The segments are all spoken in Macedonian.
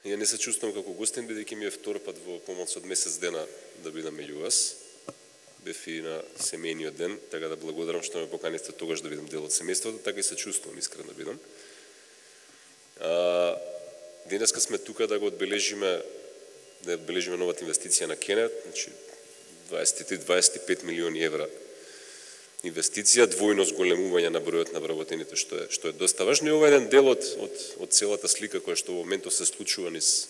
Ја не се чувствувам како гостин, бидејќи ми е втор пат во помалку од месец дена да бидам меѓу вас. Бев и на семејниот ден, така да благодарам што ме поканисте тогаш да бидам дел од семејството, така и се чувствувам искрено да бидам. Денеска сме тука да го одбележиме новата инвестиција на Кенет, значи 23-25 милиони евра инвестиција, двојно зголемување на бројот на вработените, што е доста важно. И ова е еден дел од целата слика која што во моментов се случува низ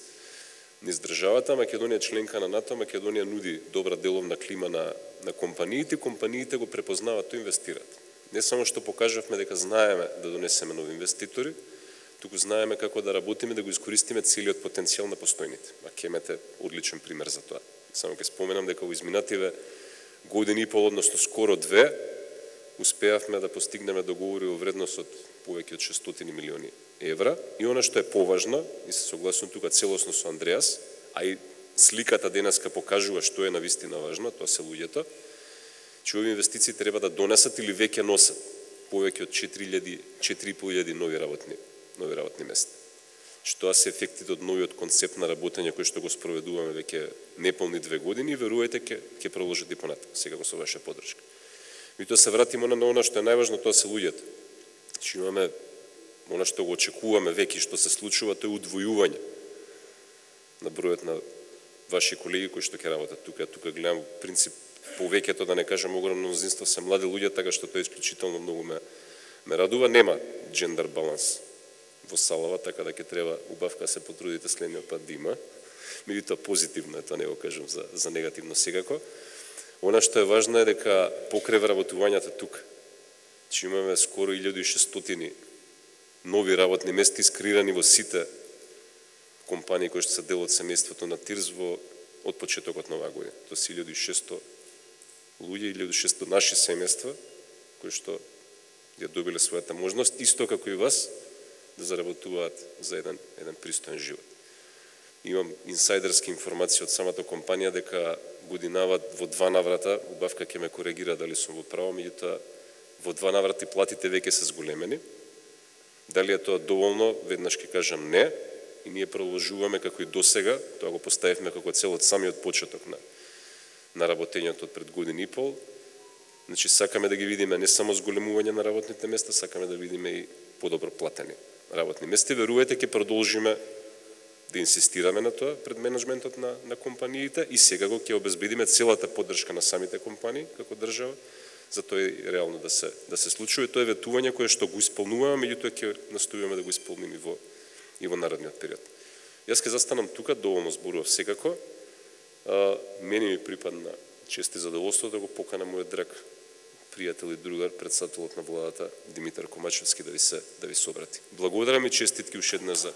државата. Македонија е членка на НАТО, Македонија нуди добра деловна клима на компаниите го препознаваат, тоа инвестираат. Не само што покажавме дека знаеме да донесеме нови инвеститори, туку знаеме како да работиме, да го искористиме целиот потенцијал на постојните. А Кемет е одличен пример за тоа. Само ќе споменам дека во изминативе години и пол, односно скоро 2, успеавме да постигнеме договори во вредност од повеќе од 600 милиони евра. И она што е поважно, и се согласувам тука целосно со Андреас, а и сликата денеска покажува што е навистина важно, тоа се луѓето, че овие инвестиции треба да донесат или веќе носат повеќе од 4.500 нови работни места. Тоа се ефектите од новиот концепт на работење кој што го спроведуваме веќе неполни 2 години и верувајте ќе продолжат и понатаму, секако со ваша поддршка. И тоа се вратиме на она што е најважно, тоа се луѓето. Че имаме она што го очекуваме веќе што се случува, тоа е удвојување на бројот на ваши колеги кои што ќе работат тука. Тука гледам принцип повеќето, да не кажам огромно мнозинство, се млади луѓе, така што тоа исклучително многу ме радува. Нема джендер баланс во салава, така да ќе треба убавка се потрудите следниот пат да има. Меѓутоа позитивно е, тоа не го кажам за негативно секако. Она што е важно е дека покрај вработувањата тука, че имаме скоро 1600 нови работни места искреирани во сите компании кои што се дел од семејството на ТИРЗ од почетокот на оваа година. Тоа се 1600 луѓе, 1600 наши семејства кои што ја добиле својата можност, исто како и вас, да заработуваат за еден пристоен живот. Имам инсайдерски информации од самата компанија дека годинава во 2 наврата, убавка ќе ме коригира дали сум во право, меѓутоа во 2 наврати платите веќе се зголемени. Дали е тоа доволно, веднаш ќе кажам не, и ние продолжуваме како и досега, тоа го поставивме како цел од самиот почеток на работењето од пред година и пол. Значи сакаме да ги видиме не само зголемување на работните места, сакаме да видиме и подобро платени работни места. Верувајте, ќе продолжиме да инсистираме на тоа пред менеджментот на компаниите и сега го ќе обезбедиме целата поддршка на самите компании како држава, за тоа и реално да се случува. Тоа е ветување кое што го исполнуваме, меѓутоа ќе настојуваме да го исполниме и во наредниот период. Јас ќе застанам тука, доволно зборував секако. Мене ми припадна чест и задоволство да го поканам мојот драг пријател и другар, председателот на владата Димитар Комачевски да ви се обрати. Благодарам и честитки уште еднаш за